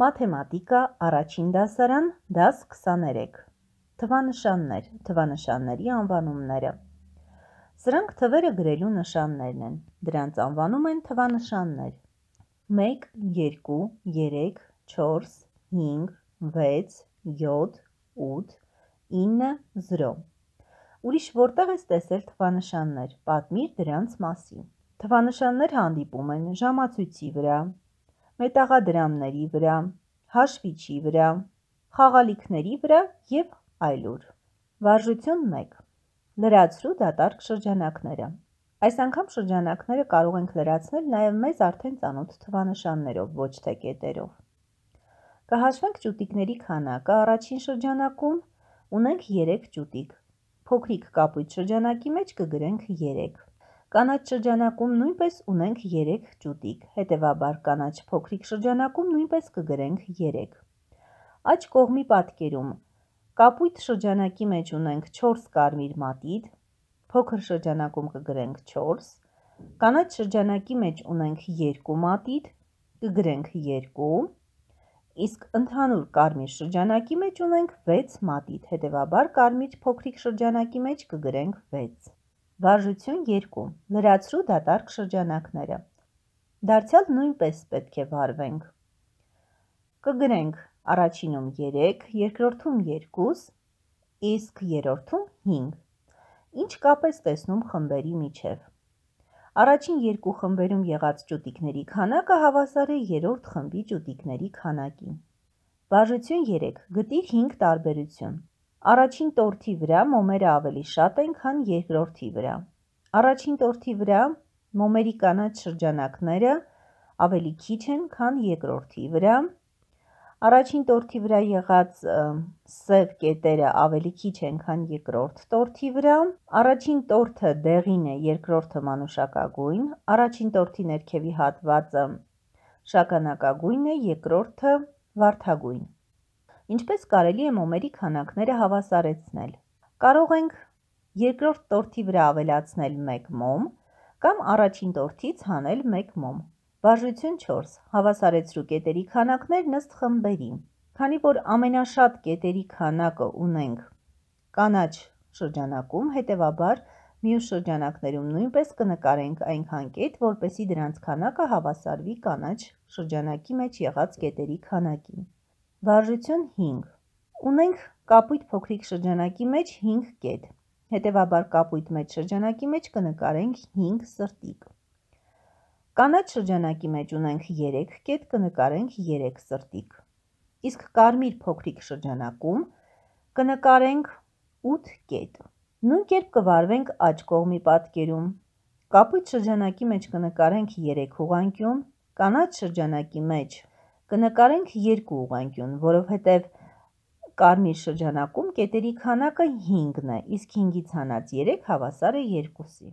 Մաթեմատիկա, առաջին դասարան, դաս 23։ Թվանշաններ, թվանշանների անվանումները։ Սրանք թվերը գրելու նշաններն են, դրանց անվանում են թվանշաններ։ 1, 2, 3, 4, 5, 6, 7, 8, 9, 0։ Ուրիշ որտեղ ես տեսել թվանշաններ, պատմիր դրանց մասին։ Թվանշաններ հանդիպում են ժամացույցի վրա, մետաղադրամների վրա, հաշվիչի վրա, խաղալիքների վրա և այլուր։ Վարժություն 1. Լրացրու դատարկ շրջանակները։ Այս անգամ շրջանակները կարող ենք լրացնել նաև մեզ արդեն ծանոթ թվանշաններով, ոչ թե կետերով։ Կհաշվենք ճուտիկների քանակը առաջին շրջանակում, ունենք 3 ճուտիկ, փոքրիկ կապույտ շրջանակի մեջ կգրենք 3։ Կանաչ շրջանակում նույնպես ունենք 3 ճուտիկ, հետևաբար կանաչ փոքրիկ շրջանակում նույնպես կգրենք 3։ Աջ կողմի պատկերում կապույտ շրջանակի մեջ ունենք 4 կարմիր մատիտ, փոքր շրջանակում կգրենք 4, կանաչ շրջանակի մեջ ունենք 2 մատիտ, կգրենք 2, իսկ ընդհանուր կարմիր շրջանակի մեջ ունենք 6 մատիտ, հետևաբար կարմիր փոքրիկ շրջանակի մեջ կգրենք 6։ Վարժություն 2. Լրացրու դատարկ շրջանակները։ Դարձյալ նույնպես պետք է վարվենք։ Կգրենք առաջինում 3, երկրորդում 2, իսկ երրորդում 5։ Ինչ կապ ես տեսնում խմբերի միջև։ Առաջին երկու խմբերում եղած ճուտիկների քանակը հավասար է երրորդ խմբի ճուտիկների քանակին։ Վարժություն 3. Գտիր 5 տարբերություն։ Առաջին տորթի վրա մոմերը ավելի շատ են, քան երկրորդի վրա։ Առաջին տորթի վրա մոմերի կանաչ շրջանակները ավելի քիչ են, քան երկրորդի վրա։ Առաջին տորթի վրա եղած սև կետերը ավելի քիչ են, քան երկրորդ տորթի վրա։ Առաջին տորթը դեղին է, երկրորդը մանուշակագույն։ Առաջին տորթի ներքևի հատվածը շագանակագույն է, երկրորդը վարդագույն։ Ինչպես կարելի է մոմերի քանակները հավասարեցնել։ Կարող ենք երկրորդ տորթի վրա ավելացնել 1 մոմ կամ առաջին տորթից հանել 1 մոմ։ Վարժություն 4. Հավասարեցրու կետերի քանակներն ըստ խմբերի։ Քանի որ ամենաշատ կետերի քանակը ունենք կանաչ շրջանակում, հետևաբար մյուս շրջանակներում նույնպես կնկարենք այնքան կետ, որպեսզի դրանց քանակը հավասարվի կանաչ շրջանակի մեջ եղած կետերի քանակին։ Վարժություն 5. Ունենք կապույտ փոքրիկ շրջանակի մեջ 5 կետ, հետևաբար կապույտ մեծ շրջանակի մեջ կնկարենք 5 սրտիկ։ Կանաչ շրջանակի մեջ ունենք 3 կետ, կնկարենք 3 սրտիկ։ Իսկ կարմիր փոքրիկ շրջանակում կնկարենք 8 կետ։ Նույն կերպ կվարվենք աջ կողմի պատկերում։ Կապույտ շրջանակի մեջ կնկարենք 3 ուղղանկյուն, կանաչ շրջանակի մեջ կնկարենք 2 ուղղանկյուն, որովհետև կարմիր շրջանակում կետերի քանակը 5-ն է, իսկ 5-ից հանած 3 հավասար է 2-ի։